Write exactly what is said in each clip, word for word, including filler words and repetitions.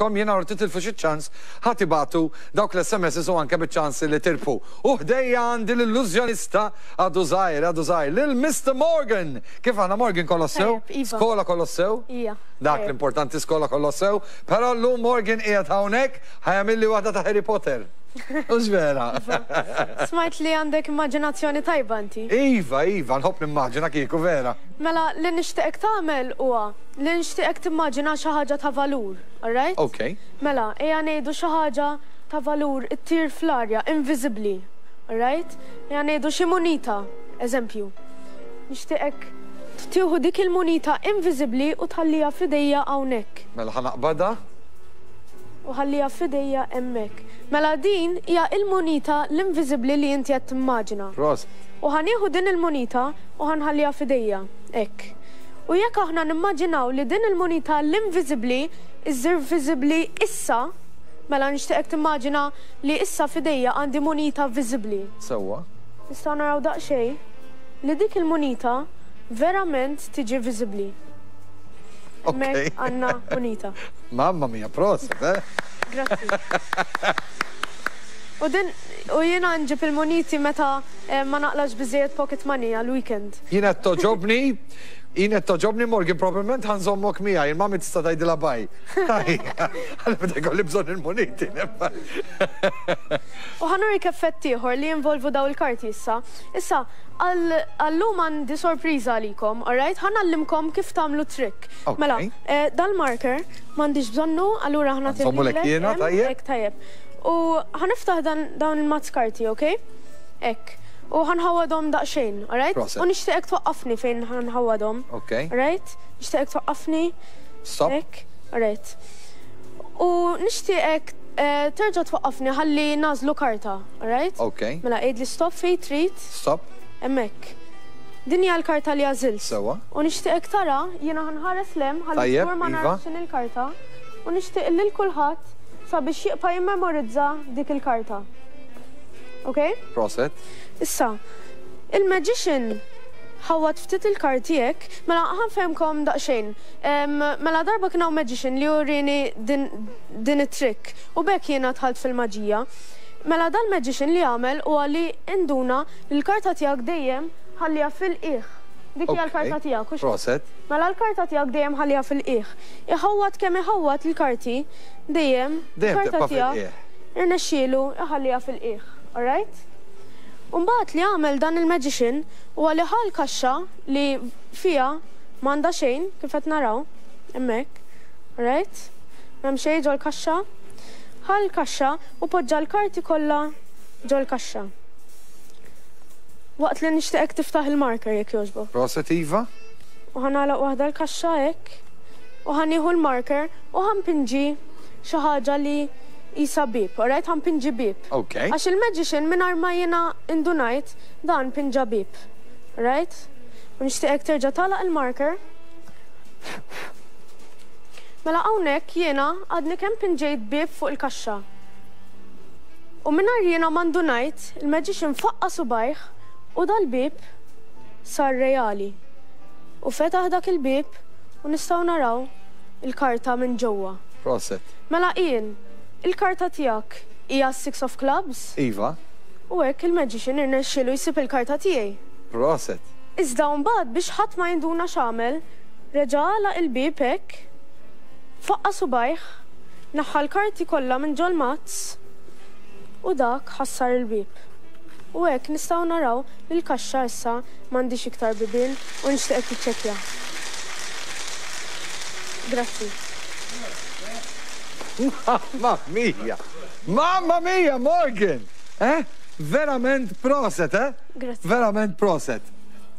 ngħidilkom jiena u titilfu xi ċans ħa tibagħtu dawk l-S M S u anke biċ-ċans li tirbħu. U ħdejja għandi l-illużjonista, għadu żgħir, għadu żgħir, lil Mister Morgan. Kif aħna, Morgan, kollox sew? Tajjeb, iva. Skola kollox sew? Ija. Dak Tajjeb. l-importanti, skola kollox sew. Però llum Morgan qiegħed hawnhekk ħa jagħmilli waħda ta' Harry Potter. Hux vera? Smajt li għandek immaġinazzjoni tajba inti. Iva, iva, nħobb nimmaġina kieku vera. Mela, li nixtieqek tagħmel huwa li nixtieqek timmaġina xi ħaġa ta' valur, alright? Ok. Mela, ejja ngħidu xi ħaġa ta' valur ittir fl-arja, inviżibbli, alright? Ejja ngħidu xi munita, eżempju. Nixtieqek tieħu dik il-munita inviżibbli u tħallija f'idejja hawnhekk. Mela ħa naqbadha. U ħallija f'idejja hemmhekk. Mela din hija il-munita l-inviżibbli li inti qed timmaġina. Prosit. U ħa nieħu din il-munita u ħa nħalliha f'idejja, hekk. U jekk aħna nimmaġinaw li din il-munita l-inviżibbli iżżir viżibbli issa, mela nixtieqek timmaġina li issa f'idejja għandi munita viżibbli. Sewwa. Nistgħu naraw daqsxejn li dik il-munita verament tiġi viżibbli. Ok. Hemmhekk għandna munita. Mamma mia, prosit, eh? Grazzi. U din u jiena nġib il-muniti meta eh, ma naqlax biżejjed pocket money għal-weekend. Jiena togħġobni, jiena togħġobni, Morgan, probabbilment ħa nżommok miegħi, il-mami tista' tgħidilha bye. Għalli meta jkolli bżonn il-muniti. U ħa nurik effett ieħor li jinvolvu daw il-karti issa. Issa, għal-lum għandi sorpriża għalikom, alright? Ħa ngħallimkom kif tagħmlu trick. Ok. Mela, eh, dal-marker m'għandix bżonnu, allura ħa Nżommulek jiena, tajjeb? Hekk, tajjeb. U ħa niftaħ dan dawn il-mazz karti, ok? Hekk. U ħa nħawwadhom daqsxejn, alright? Prosit. U nixtieqek twaqqafni fejn ħa nħawwadhom. Ok. Alright? Nixtieqek twaqqafni. Stop. Hekk, alright. U nixtieqek eh, terġa' twaqqafni ħalli nagħżlu karta, alright? Ok. Mela għidli stop fejn trid, Stop. hemmhekk. Din hija l-karta li għażilt. Sewwa. U nixtieqek tara, jiena ħa nħares 'l hemm, ħalli Tajjeb, żgur ma iva. narax x'inhi l-karta. U nixtieq lil kulħadd sabiex jibqa' jimmemorizza dik il-karta. Ok? Prosit. Issa, il-magician ħawwad ftit il-karti hekk, mela ħa nfehemkom daqsxejn. Em, Mela darba kien hawn magician li urini din, din it-trick u b'hekk jiena dħalt fil-maġija. Mela dal-magician li għamel huwa li induna li l-karta tiegħek dejjem ħalliha fil-qiegħ. Dik hija Ok. l-karta tiegħek, hux? Prosit. Mela l-karta tiegħek dejjem ħalliha fil-qiegħ. Iħawwad kemm iħawwad il-karti, dejjem Dejjem il-karta tibqa' tiegħek fil-qiegħ. irnexxielu iħalliha fil-qiegħ. Alright? Umbagħad li għamel dan il-magician huwa li ħa l-kaxxa li fiha m'għandha xejn, kif qed naraw hemmhekk. Alright? M'hemm xejn ġol-kaxxa. Ħa l-kaxxa u poġġa l-karti kollha ġol-kaxxa. Waqt li nixtieqek tiftaħ il-marker, jekk jogħġbok. Prosit, iva. U ħa nagħlaq waħda l-kaxxa hekk u ħa nieħu l-marker u ħa npinġi xi ħaġa li qisha bieb, alright? Ħa npinġi bieb. Ok. Għax il-magician mingħajr ma jiena indunajt dan pinġa bieb. Alright? U nixtieqek terġa' tagħlaq il-marker. Mela hawnhekk jiena għadni kemm pinġejt bieb fuq il-kaxxa. U mingħajr jiena ma ndunajt, il-magician faqqa subajh u dal-bieb sar reali. U fetaħ dak il-bieb u nistgħu naraw il-karta minn ġewwa. Prosit. Mela Ian, il-karta tiegħek hija Six of Clubs? Iva. U hekk il-magician irnexxielu jsib il-karta tiegħi. Prosit. Iżda mbagħad, biex ħadd ma jinduna x'għamel, reġa' għalaq il-bieb hekk, faqqa subajh, naħħa l-karti kollha minn ġol-mazz u dak ħassar il-bieb. U hekk nistgħu naraw li l-kaxxa issa m'għandix iktar bibien u nixtieqek tiċċekkja. Grazzi. Mamma mia! Mamma mia, Morgan! Eh? Verament prosit, eh? Grazzi. Verament prosit.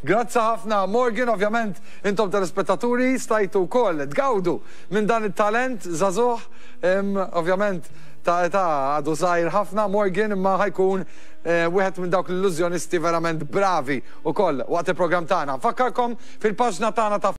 Grazzi ħafna, Morgan. Ovvjament, intom telespettaturi stajtu wkoll tgawdu minn dan it-talent żagħżugħ, ovvjament ta' età għadu żgħir ħafna Morgan, imma ħa jkun eh, wieħed minn dawk l-illużjonisti verament bravi ukoll waqt il-programm tagħna. Fakkarkom fil-paġna tagħna ta'